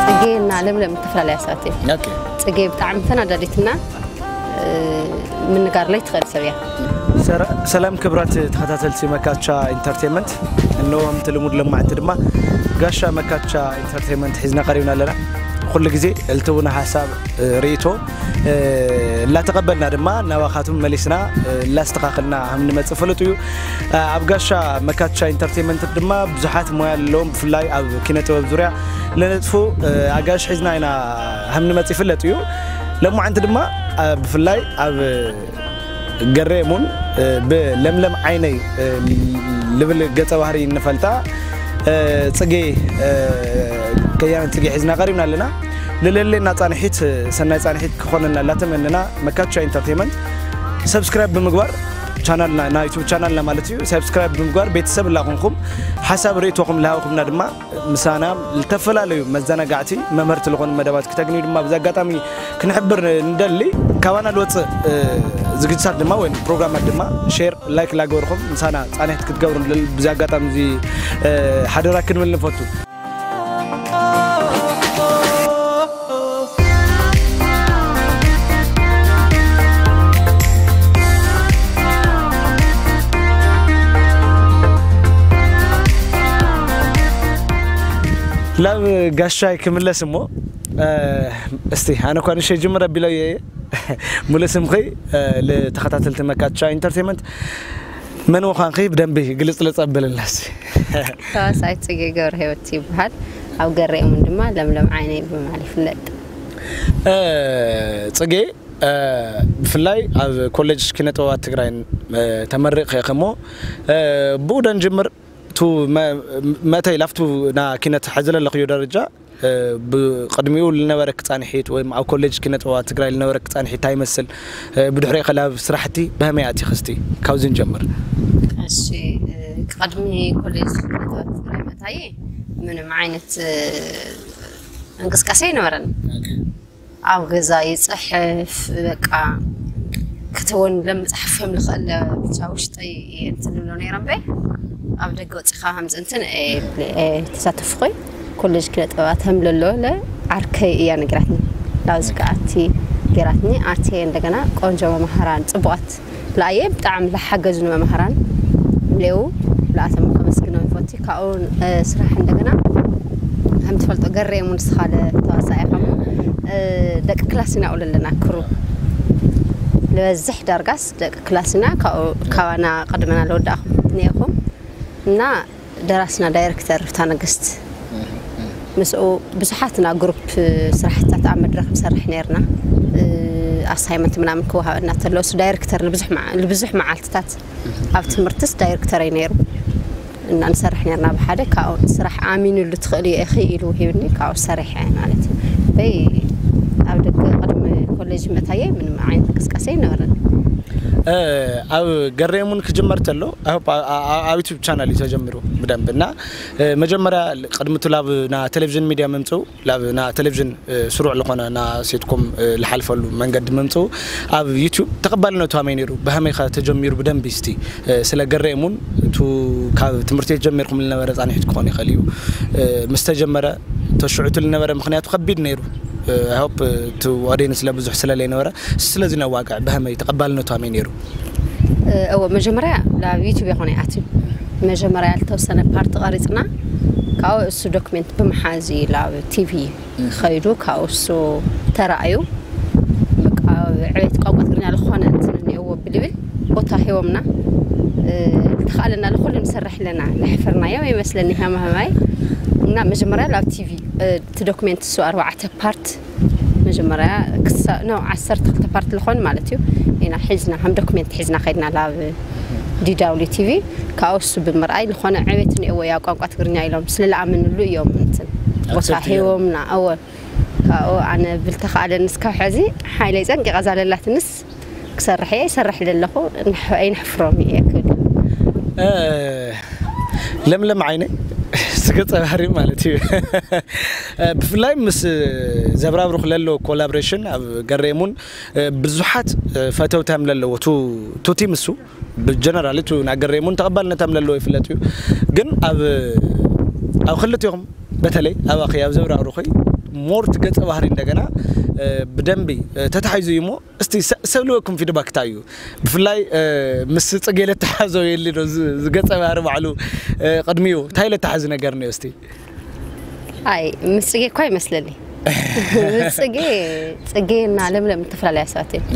ጽጌ እና ለምለም ዝተፈላለያ ሰባት እየን። ኦኬ። ጽጌ ብጣዕሚ ተናዳዲትና ምንጋር ላይ ትኽእል ሰብ እያ። ሰላም ክብራት ተኸታተልቲ መካቻ ኢንተርቴንመንት፣ እንሆ ከምቲ ልሙድ ለማዕንቲ ድማ ጋሻ መካቻ ኢንተርቴንመንት ሒዝና ቀሪብና ኣለና። ኩሉ ግዜ እልትውና ሓሳብ፣ ርእይቶ፣ እናተቐበልና ድማ ናባኻቱም መሊስና እናስተኻኸልና ከም ንመፅእ ፍሉጥ እዩ። ኣብ ጋሻ መካቻ ኢንተርቴንመንት ድማ ብዙሓት ሞያ ኣለዎም። ብፍላይ ኣብ ኪነ ጥበብ ዙርያ ለነጥፉ ኣጋሽ ሒዝና ኢና ከም ንመፅእ ይፍለጥ እዩ። ለማዓንቲ ድማ ብፍላይ ኣብ ገሬሙን ብለምለም ዓይነይ ልብል ገፀ ባህሪ እንፈልጣ ፅጌ፣ ከያነ ፅጌ ሒዝና ቀሪብና ኣለና። ልለሌና ፃንሒት፣ ሰናይ ፃንሒት ክኾነና እናተመነና፣ መካቻ ኢንተርቴንመንት ሰብስክራይብ ብምግባር ቻናልና፣ ናይ ዩቱብ ቻናልና ማለት እዩ፣ ሰብስክራይብ ብምግባር ቤተሰብ እናኾንኩም ሓሳብ ርእይቶኹም ልሃብኹምና ድማ ምሳና ዝተፈላለዩ መዘናጋዕቲ መምህርቲ ዝኾኑ መደባት ክተግንዩ ድማ ብዚ ኣጋጣሚ ክንሕብር እንደሊ። ካባና ልወፅእ ዝግጅታት ድማ ወይ ፕሮግራማት ድማ ሼር፣ ላይክ ላገበርኹም ምሳና ፃንሒት ክትገብሩ ንደሊ። ብዚ ኣጋጣሚ እዚ ሓደራ ክንብል ንፈቱ። ላብ ጋሻይ ክምለስ እሞ፣ እስቲ ኣነ እኳ ንሸይ ጅምር ኣቢለዮ እየ። ሙሉእ ስምኺ፣ ንተኸታተልቲ መካቻ ኢንተርቴንመንት መን ምዃንኺ ብደንቢ ግልፅልፅ ኣብልልና እስቲ። ተዋሳኢት ፅጌ ገብረ ህይወት ይበሃል። ኣብ ገሬሙን ድማ ለምለም ዓይነይ ብምባል ይፍለጥ። ፅጌ፣ ብፍላይ ኣብ ኮሌጅ ኪነ ጥበባት ትግራይን ተመሪቕኺ ኢኺ እሞ፣ ብኡ ደንጅምር፣ እቲ መእተይ ላፍቱ ና ኪነት ሕዚ ለለኽዮ ደረጃ፣ ብቕድሚኡ ልነበረኪ ፃንሒት ወይ ኣብ ኮሌጅ ኪነ ጥበባት ትግራይ ልነበረኪ ፃንሒት እንታይ ይመስል? ብድሕሪኡ ከ ላብ ስራሕቲ ብኸመይ ኣቲኺ? እስቲ ካብዚ ንጀምር። እሺ፣ ቅድሚ ኮሌጅ ኪነ ጥበባት ትግራይ ምእታየይ ምንም ዓይነት እንቅስቃሴ ኣይነበረን። ኣብ ገዛ ይፅሕፍ፣ በቃ ክትውን ለመፅሓፍ ከም ልኽእል ብቻ ውሽጠይ እየ እንትን ንብሎ ነይረ እምበይ። ኣብ ደገ ወፂኻ ከምዚ እንትን ተሳተፍኹይ። ኮሌጅ ኪነ ጥበባት ከም ለሎ ለ ዓርከይ እያ ነግራትኒ። ላብዚ ከኣቲ ገይራትኒ። ኣትየ እንደገና ቆንጆ መማህራን ፅቡቓት ለኣየ ብጣዕሚ ለሓገዙኒ መማህራን ሌው ለኣቶም ከመስግኖም ይፈቱ። ካብኡ ስራሕ እንደገና ከም ትፈልጦ ገሬሙ ንስኻ ለተዋሳኢ ኢኻ እሞ ደቂ ክላስ ኢና ውለለና ክሩ ልበዝሕ ዳርጋስ ደቂ ክላስ ኢና። ካብኡ ካባና ቅድመና ለወዳእኹም ነይኹም እና ደራስና ዳይሬክተር ሩታ ነገስት ምስኡ ብዙሓትና ግሩፕ ስራሕትታት ኣብ መድረኽ ንሰርሕ ነርና። ኣሳይመንት ምናምን ክወሃበና ተሎ እሱ ዳይሬክተር ልብዙሕ መዓ- ልብዙሕ መዓልትታት ኣብ ትምህርትስ ዳይሬክተረይ ነይሩ እና ንሰርሕ ነርና ብሓደ። ካብኡ ስራሕ ኣሚኑሉ ትኽእል እየ ኢኺ ኢሉ ሂብኒ። ካብኡ ሰሪሐ ማለት እዩ። በይ ኣብ ደገ ቅድሚ ኮሌጅ ምእታየ ምንም ዓይነት እንቅስቃሴ ኣይነበረን። ኣብ ገሬሙን ክጅመር ተሎ ኣብ ዩቱብ ቻናል እዩ ተጀሚሩ ብደንብ እና መጀመርያ ቅድሚ እቲ ላብ ና ቴሌቪዥን ሚድያ ምምፅኡ ላብ ና ቴሌቪዥን ስሩዕ ዝኾነ ና ሴትኮም ልሓልፈሉ መንገዲ ምምፅኡ ኣብ ዩቱብ ተቐባልነቱ ሃመይ ነይሩ? ብሃመይኻ ተጀሚሩ ብደንቢ እስቲ ስለ ገሬሙን እቱ ካብ ትምህርቲ ቤት ጀሚርኩም ልነበረ ፃንሒት ክኾን ይኽእል እዩ ምስ ተጀመረ ተሽዑቱ ልነበረ ምክንያቱ ከቢድ ነይሩ። ሆፕ እቲ ኦዲየንስ ለብዙሕ ስለለይነበረ ስለዚ ነዋግዕ ብሃመይ ተቐባልነቱ ሃመይ ነይሩ? እወ መጀመርያ ናብ ዩቱብ ይኾነ ኣትዩ መጀመርያ ልተወሰነ ፓርቲ ቀሪፅና ካብኡ እሱ ዶክሜንት ብምሓዝ እዩ ናብ ቲቪ ኸይዱ ካብኡ እሱ ተራእዩ በቃ ዕቤት ቋንቋ ትግርኛ ዝኾነ እንትን እኒኦዎ ብልብል ቦታ ሂቦምና ልተኻእለና ልኩሉ ንሰርሕ ኣለና ለሕፈርናዮ ይመስለኒ ሃማሃማይ እና መጀመርያ ናብ ቲቪ እቲ ዶክሜንት እሱ ኣርባዕተ ፓርት መጀመርያ ክሳ- ኖ ዓሰርተ ክልተ ፓርት ዝኾን ማለት እዩ ኢና ሒዝና ከም ዶክሜንት ሒዝና ከድና ናብ ዲ ዳብሊው ቲቪ ካብኡ እሱ ብምርኣይ ዝኾነ ዕቤት እኒኦዎ ያ ቋንቋ ትግርኛ ኢሎም ስለለኣመንሉ እዮም እንትን ቦታ ኣክሰፕት ገይሮም። ሂቦምና እወ ካብኡ ኣነ ብልተኻእለንስ ካብ ሕዚ ሓይለይ ፀንቂቐ እዛ ለላትንስ ክሰርሕ እየ ይሰርሕ ለለኹ ኣይንሕፍሮም እየ ክብል ለምለም ዓይነ ስገጸ ባህሪ ማለት እዩ። ብፍላይ ምስ ዘብራብሩኽ ለሎ ኮላቦሬሽን ኣብ ገሬሙን ብዙሓት ፈተውታም ለለዎ ቱቲ ምሱ ብጀነራል ቱ ናገሬሙን ተቐባልነታም ለለዎ ይፍለጥ እዩ። ግን ኣብ ኣብ ክልቲኹም በተለይ ኣብ ኣኺ ኣብ ዘብራብሩኺ ሞርት ገጸ ባህሪ እንደገና ብደንቢ ተታሒዙ እዩ እሞ እስቲ ሰብልወኩም ፊድባክ እንታይ እዩ? ብፍላይ ምስ ጽጌ ለተሓዘው የሊ ዶ ዝገጸ ባህሪ ባዕሉ ቅድሚኡ እንታይ ለተሓዚ ነገር ነዮ እስቲ? ኣይ ምስ ጽጌ እኳ ይመስለኒ። ምስ ጽጌ ጽጌ እና ለምለም እተፈላለያ ሰባት እዮም።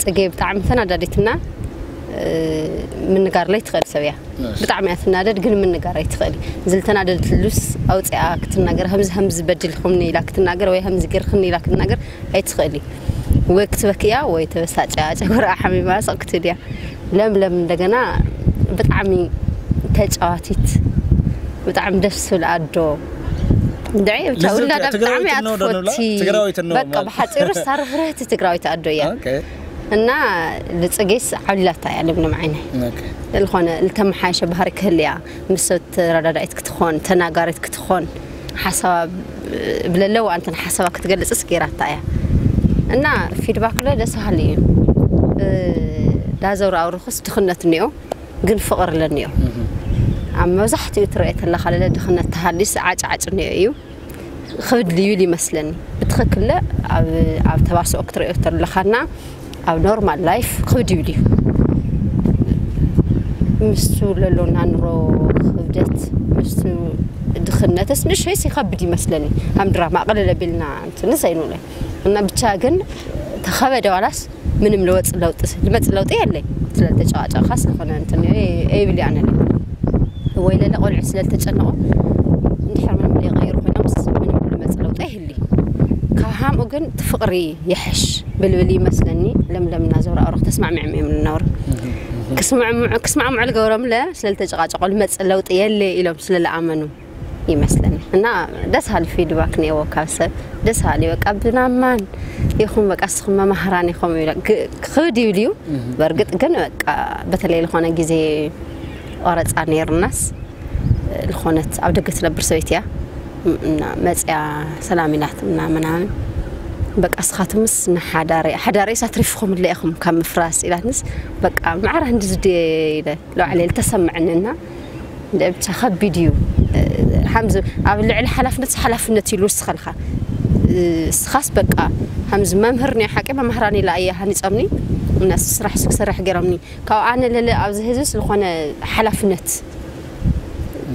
ጽጌ ብጣዕሚ ተናዳዲትና ምንጋር ለይ ትኽእል ሰብ እያ። ብጣዕሚ እያ ትናደድ ግን ምንጋር ኣይትኽእል። ዝልተናደድሉስ ኣውፅኣ ክትናገር ከምዚ ከምዚ በዲልኹምኒ ኢላ ክትናገር ወይ ከምዚ ገርክኒ ኢላ ክትናገር ኣይትኽእል። ወይ ክትበክያ ወይ ተበሳጭያ ጨጎራ ሓሚማ ስቕ ክትብል እያ። ለምለም እንደገና ብጣዕሚ ተጫዋቲት ብጣዕሚ ደስ ትብል ኣዶ። እንድዒ ብቻ ውላዳ ብጣዕሚ እያ ትፈቲ። በቃ ብሓፂሩ ሳርፍርህቲ ትግራዊት ኣዶ እያ። እና ልፅጌስ ዓብላታ እያ ለምለም ዓይነ ዝኾነ ልተመሓየሸ ባህሪ ክህልያ ምስ ሰብ ተረዳዳኢት ክትኾን ተናጋሪት ክትኾን ሓሳባ ብለለዋ እንተን ሓሳባ ክትገልፅስ ገይራታ እያ። እና ፊድባክ ለ ደስ በሃሊ እዩ። ዳዘውር ኣውርኹስ ድኽነት እኒኦ ግን ፍቕሪ ለኒኦ ኣብ መብዛሕትኡ ትረአ ተለኻ ለለ ድኽነት ተሃሊስ ዓጭዓጭ እኒኦ እዩ። ክብድ ልዩል ይመስለኒ። ብትኽክል ኣብ ተባስኦ ክትሪኦ ተለኻና ኣብ ኖርማል ላይፍ ክብድ ይብል እዩ። ምስቱ ለሎና ኑሮ ክብደት ምስቱ ድኽነትስ ንእሽተይስ ይኸብድ ይመስለኒ። ከም ድራማ ቅልል ኣቢልና እንትንስ ኣይንብሎን እና ብቻ ግን ተኸበደ ዋላስ ምንም ልወፅ ለውጢ ልመፅ ለውጢ የለይ። ስለልተጨቃጨቅካ ስለኾነ እንትን ኣይብል ኣነ ወይ ለለ ቆልዑ ስለልተጨነቁ እንድሕር ምንም ለይቀይሩ ኮይኖም ምንም ልመፅ ለውጢ ኣይህሊ። ካብ ሃምኡ ግን እቲ ፍቅሪ ይሕሽ ብልብል ይመስለኒ። ለምለምና ዘውራ ኣውረኽ ተስማዕሚዕም እዮም ልነብሩ። ክስማዕምዑ ልገብሮም ለ ስለልተጨቃጨቁ ልመፅ ለውጢ የለ ኢሎም ስለልኣመኑ ይመስለኒ። እና ደስ ሃሊ ፊድባክ ነዎ ካብ ሰብ ደስ ሃሊ በቃ ብናማን ይኹም በቃ ስኹም መማህራን ይኹም ይብለ ክብድ ይብል እዩ። በእርግጥ ግን በቃ በተለይ ልኾነ ግዜ ቆረፃ ነይርናስ ልኾነት ኣብ ደገ ትነብር ሰበይቲ እያ እና መፅያ ሰላም ኢላት እና ምናምን በቃ ስኻትምስ ንሓዳረ ሓዳረ ሳትሪፍኹም ለ ኢኹም ካብ ምፍራስ ኢላትንስ በቃ ማዕረ ህንዲ ዝድየ ኢለ ለባዕለ ልተሰምዐኒ እና ብቻ ከቢድ እዩ። ሓምዚ ኣብ ልዕሊ ሓላፍነት ሓላፍነት ኢሉ ወስኸልካ ስኻስ በቃ ሓምዚ መምህር ናይ ሓቂ መምህራን ኢላ እየ ሃኒፆምኒ እና ስራሕ ክሰርሕ ገይሮምኒ ካብ ኣነ ለለ ኣብዚ ህዝብስ ዝኾነ ሓላፍነት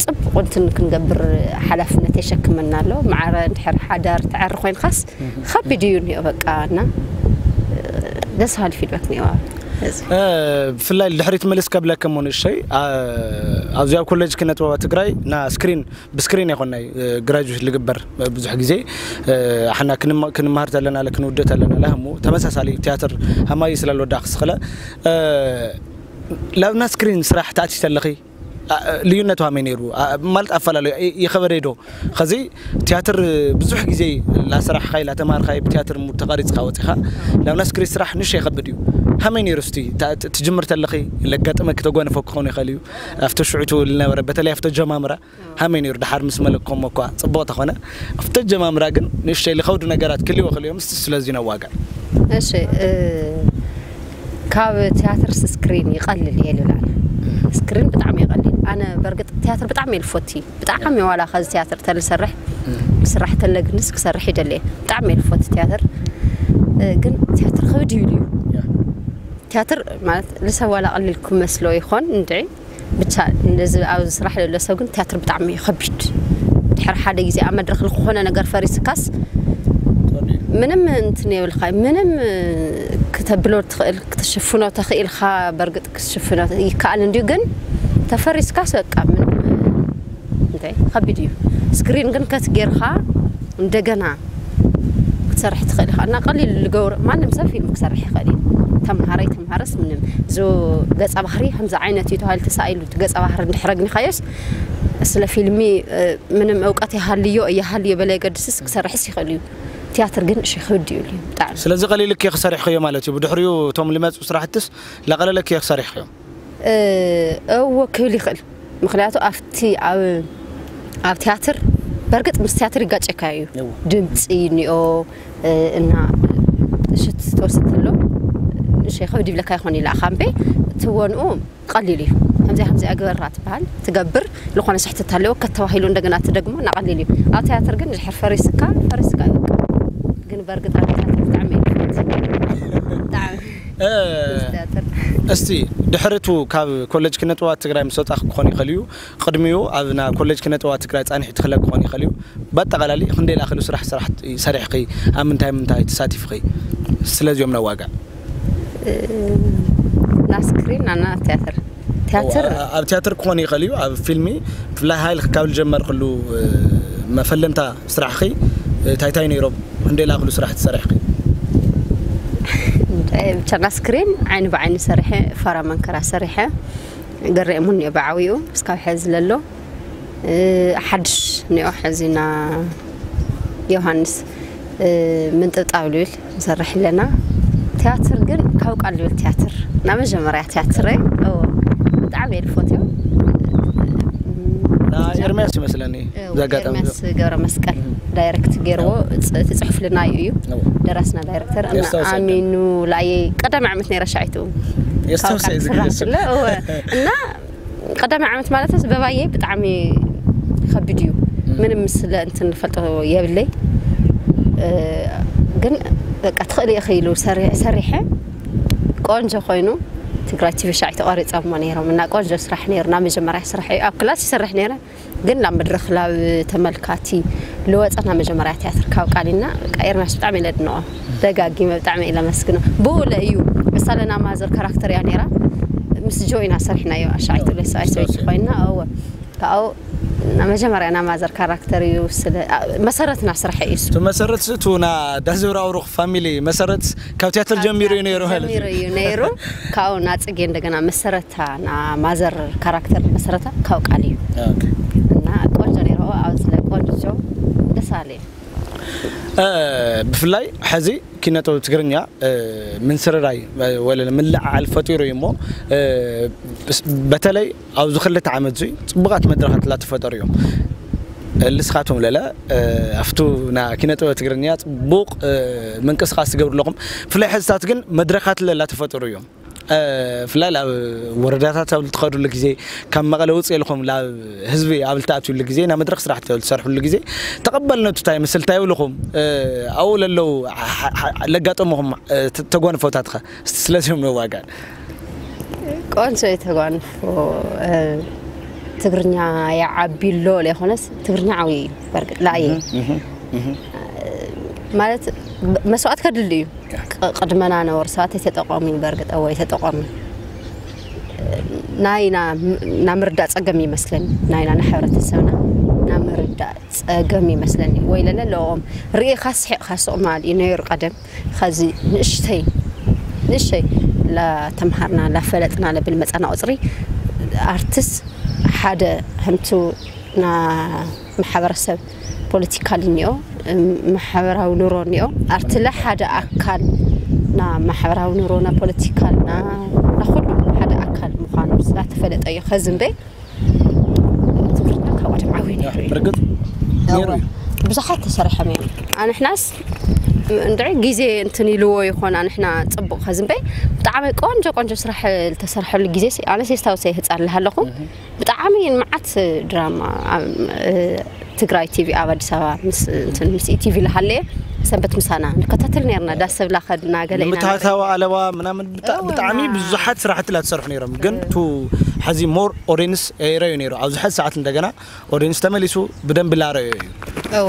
ፅቡቅ እንትን ክንገብር ሓላፍነት የሸክመና ኣሎ። ማዕረ እንድሕር ሓዳር ትዓሪ ኮይንካስ ከቢድ እዩ እኒኦ በቃ እና ደስ ሃሊ ፊድባክ ኒዋ ብፍላይ ድሕሪት ምልስ ከብለከ ሞ ንእሸይ ኣብዚ ኣብ ኮሌጅ ክነጥበባ ትግራይ ና ስክሪን ብስክሪን ይኮናይ ግራጁዌት ልግበር ብዙሕ ግዜ ሓና ክንምሃር ተለና ክንውደ ተለና ላህሙ ተመሳሳሊ ቲያትር ሃማይ ስለ ልወዳ ክስኽለ ላብና ስክሪን ስራሕ ተኣቲሽ ተለኺ ልዩነቱ ሃመይ ነይሩ ማለት ኣፈላለዩ ይኸበደ ዶ ከዚ ቲያትር ብዙሕ ግዜ ላሰራሕኻይ ላተማርኻይ ብቲያትር ሙድ ተቐሪፅካ ወፂኻ ናብ ናስክሪ ስራሕ ንሽ የኸብድ እዩ ሃመይ ነይሩ ስቲ ትጅምር ተለኺ ለጋጥመ ክተጓነፈ ክኾኑ ይኽእል እዩ ኣብቲ ሽዑቱ ልነበረ በተለይ ኣብቲ ጀማምራ ሃመይ ነይሩ ድሓር ምስ መለኮሞ እኳ ፅቡቕ ተኾነ ኣብቲ ጀማምራ ግን ንእሽተይ ልኸብዱ ነገራት ክልዎ ክልዮም ስቲ ስለዚ ነዋጋ እሺ ካብ ቲያትር ስክሪን ይቐልል እየ ልብል ኣነ። ስክሪን ብጣዕሚ ይቐልል። ኣነ በርግጥ ቲያትር ብጣዕሚ እየ ልፎቲ። ብጣዕሚ ዋላ ከዚ ቲያትር ተልሰርሕ ክስራሕ ተለ ግንስ ክሰርሕ ይደሊ እየ። ብጣዕሚ እየ ልፎቲ ቲያትር። እ፣ ግን ቲያትር ከብድ ይብል እዩ። ቲያትር ማለት ልሰብ ዋላ ቀሊል ክመስሎ ይኾን እንድዒ ብቻ እንደዚ ኣብዚ ስራሕ ዘሎ ሰብ ግን ቲያትር ብጣዕሚ እዩ ከቢድ። ድሕሪ ሓደ ግዜ ኣብ መድረክ ዝኾነ ነገር ፈሪስካስ ምንም እንትን የብልካ ምንም ክተብሎ ትኽእል ክትሽፍኖ ተኽኢልካ በርግጥ ክትሽፍኖ ይከኣል እንዲዩ ግን ተፈሪስካስ በቃ ምንም እንታይ ከቢድ እዩ ስክሪን ግን ከትጌርካ እንደገና ክትሰርሕ ትኽእል ኢኻ እና ቀሊል ልገብሮ ማንም ሰብ ፊልም ክሰርሕ ይኽእል እዩ ተምሃራይ ተምሃረስ ምንም እዚ ገፀ ባህሪ ከምዚ ዓይነት እዩ ተባሂሉ ተሳኢሉ ገፀ ባህሪ እንድሕር ኣግኒኻዮስ ስለ ፊልሚ ምንም እውቀት ይሃልዮ እያሃልዮ በለ የገድስስ ክሰርሕስ ይኽእል እዩ ቲያትር ግን እሺ ክብድ ይብል እዩ ብጣዕሚ ስለዚ ቀሊልክ እየ ክሰርሕኽዮ ማለት እዩ ብድሕሪኡ እቶም ልመፁ ስራሕትስ ላቀለለክ እየ ክሰርሕኽዮ እዎ ክብል ይኽእል ምክንያቱ ኣብቲ ኣብ ኣብ ትያትር በርግጥ ምስ ትያትር ይጋጨካ እዩ። እዎ። ድምፂ እኒኦ፣ እ፣ እና ሽት ትወስድ ተሎ ንእሽተይ ከብድ ይብለካ ይኾን ኢላ ካምቤ ትወንኡ ቀሊል እዩ። ከምዚኣ ከምዚኣ ግበራ ትበሃል ትገብር። ዝኾነ ስሕተት ኣለዎ ከተባሂሉ እንደገና ትደግሞ እና ቀሊል እዩ። ኣብ ትያትር ግን ድሕር ፈሪስካ ፈሪስካ እዩ በቃ። ግን በርግጥ ኣብ ትያትር ብጣዕሚ እየ ዝፈቱ። ብጣዕሚ እ፣ ምስ ትያትር እስቲ ድሕሪቱ ካብ ኮሌጅ ኪነ ጥበባት ትግራይ ምስ ወፃኺ ክኾን ይኽእል እዩ። ቅድሚኡ ኣብ ና ኮሌጅ ኪነ ጥበባት ትግራይ ፃኒሑ ትኽለ ክኾን ይኽእል እዩ። ብኣጠቓላሊ ክንደይ ላክሉ ስራሕ ስራሕ ሰሪሕኺ፣ ኣብ ምንታይ ምንታይ ተሳቲፍኺ? ስለዚኦም ነዋጋ ና ስክሪን ኣና ትያትር ትያትር ኣብ ቲያትር ክኾን ይኽእል እዩ። ኣብ ፊልሚ ብፍላይ ሃይል ካብ ዝጀመርክሉ እ፣ መፈለምታ ስራሕኺ እ፣ እንታይ እንታይ ነይሮም? ክንደይ ላክሉ ስራሕ ትሰሪሕኺ? ብቻ ና ስክሪን ዓይኒ ብዓይኒ ሰሪሐ ፋራ መንከራ ሰሪሐ ገሬ እሙን እየ ብዓብኡ እስካብ ሕዚ ለሎ እ፣ ሓድሽ እኒኦ ሕዚ ና ዮሃንስ እ፣ ምንጥብጣብ ልብል ንሰርሕ ኣለና። ትያትር ግን ካብ ቃል ልብል ትያትር ና መጀመርያ ትያትር እዎ ብጣዕሚ እየ ዝፈትዮ። ና ኤርሚያስ ይመስለኒ። ብዚ ኣጋጣሚ ኤርሚያስ ገብረ መስቀል ዳይሬክት ገይርዎ ፅ- እቲ ፅሑፍ ልናዩ እዩ እዎ። ደራስና ዳይሬክተር እና የስታውስ ኣሚኑ ላየ ቀዳማይ ዓመት ነይረ ሻዒቱ የስታውስ ካብ እዩ ስራሕ ዝግለጽ። ስለ እወ። እና ቀዳማይ ዓመት ማለት በባየ ብጣዕሚ ከቢድ እዩ። ምንም ስለ እንትን ዝፈልጦ የብለይ እ፣ ግን በቃ ትኽእል ኢኺ ኢሉ ሰሪ- ሰሪሐ ቆንጆ ኮይኑ ትግራይ ቲቪ ሻዒ ተቋሪፀሞ ነይሮም እና ቆንጆ ስራሕ ነይሩ። ናብ መጀመርያ ስራሕ እዩ ኣብ ክላስ ይሰርሕ ነይረ ግን ናብ መድረኽ ናብ ተመልካቲ ልወፀ ናብ መጀመርያ ትያትር ካብ ቃሊና በቃ ኤርሚያስ ብጣዕሚ ኢለ ድንቆ ደጋጊመ ብጣዕሚ ኢለ መስግኖ። ብኡለ እዩ እሳለና ማዘር ካራክተር እያ ነይራ ምስ ጆይና ሰሪሕናዮ ኣሻዒቱ ለሰባይ ሰበይቲ ኮይና እወ ካብኡ ናብ መጀመርያ ና ማዘር ካራክተር እዩ ስለ ኣ- መሰረትና ስራሕ እዩ እሱ። እቲ መሰረት እሱ ና ዳዘብራውሩኽ ፋሚሊ መሰረት ካብ ቲያትር ጀሚሩ እዩ ነይሩ ማለት እዩ። ጀሚሩ እዩ ነይሩ ካብኡ ናፅጌ እንደገና መሰረታ ና ማዘር ካራክተር መሰረታ ካብ ቃል እዩ ኦኬ። እና ቆንጆ ነይሩ ኣብዚ ላይ ቆንጆ ደስ ኣለ እ፣ ብፍላይ ሕዚ ኪነጥበብ ትግርኛ እ፣ ምንስርራይ እ፣ ወለ ምልዕዓል ፈጢሩ እዩ እሞ እ፣ ብስ- በተለይ ኣብዚ ክልተ ዓመት እዚ ፅቡቓት መድረኻት ላተፈጠሩ እዮም። ልስኻቶም ለለ እ፣ ኣብቱ ና ኪነጥበብ ትግርኛ ፅቡቕ እ፣ ምንቅስቃስ ትገብሩ ኣለኹም። ብፍላይ ሕዝታት ግን መድረኻት ለላ ተፈጠሩ እዮም። እ፣ ብፍላይ ኣብ ወረዳታት ኣብ ትኸዱሉ ግዜ ካብ መቐለ ውፅእ ኢልኹም ናብ ህዝቢ ኣብ ልትኣትዩሉ ግዜ ናብ መድረኽ ስራሕ ትሰርሕሉ ግዜ ተቐበልነቱ እንታይ ይመስል እንታይ ይብልኹም? እ፣ ኣብኡ ለለዉ ሓ- ሓ- ለጋጠምኹም እ፣ ተ- ተጓንፎታት ኸ እስቲ ስለዚኦም ነዋጋል። ቆንጆ የተጓንፎ እ፣ ትግርኛ የዓቢ ኣሎ ለይኮነስ ትግርኛ ዓብዩ እዩ በርግጥ ላየ ማለት መስዋዕት ከድል እዩ ቅ- ቅድመና ነበሩ ሰባት የተጠቀሙ በርግጥ ወይ ተጠቀሙ ናይና ና ምርዳእ ጸገም ይመስለኒ ናይና ንሕብረተሰብና ና ምርዳእ ጸገም ይመስለኒ ወይ ለለ ለኦም ርኢኻ ስሒቕካ ስቕ ማል እዩ ነይሩ ቀደም ኸዚ ንእሽተይ ንእሽተይ ላተምሃርና ላፈለጥና ለብል መጻና ቁጽሪ ኣርትስ ሓደ ከምቱ ና ማሕበረሰብ ፖለቲካል እኒኦ ማሕበራዊ ኑሮ እኒኦ ኣርትለ ሓደ ኣካል ና ማሕበራዊ ኑሮ ና ፖለቲካል ና ና ኩሉ ሓደ ኣካል ምዃኑ ስላተፈለጠ እዩ ኸዚ እምበይ ትግርኛ ካብ ቀደም ዓብዩ ነይሩ እዩ ብርግጥ ነይሩ እዩ። ብዙሓት ተሰሪሖም እዮም ኣንሕናስ እንድዒ ግዜ እንትን ኢልዎ ይኾን ኣንሕና ፅቡቅ ኸዚ እምበይ ብጣዕሚ ቆንጆ ቆንጆ ስራሕ ዝተሰርሐሉ ግዜ ኣነስ የስታውሰ ይህፃልሃ ኣለኹ ብጣዕሚ መዓት ድራማ ትግራይ ቲቪ ኣብ ኣዲስ ኣበባ ምስ ኢቲቪ ዝሃለየ ሰንበት ምሳና ንከታተል ነርና ዳስ ሰብላ ከድና ገለ ኢና ምታታዊ ኣለዋ ምናምን ብጣ- እወ፣ ብጣዕሚ ና- ብዙሓት ስራሕቲ ላ ትሰርሑ ነይሮም ግን ቱ ሕዚ ሞር ኦዲንስ ረዩ ነይሩ ኣብዚ ሕዚ ሰዓት እንደገና ኦዲንስ ተመሊሱ ብደንብ ላረዮ እዩ እወ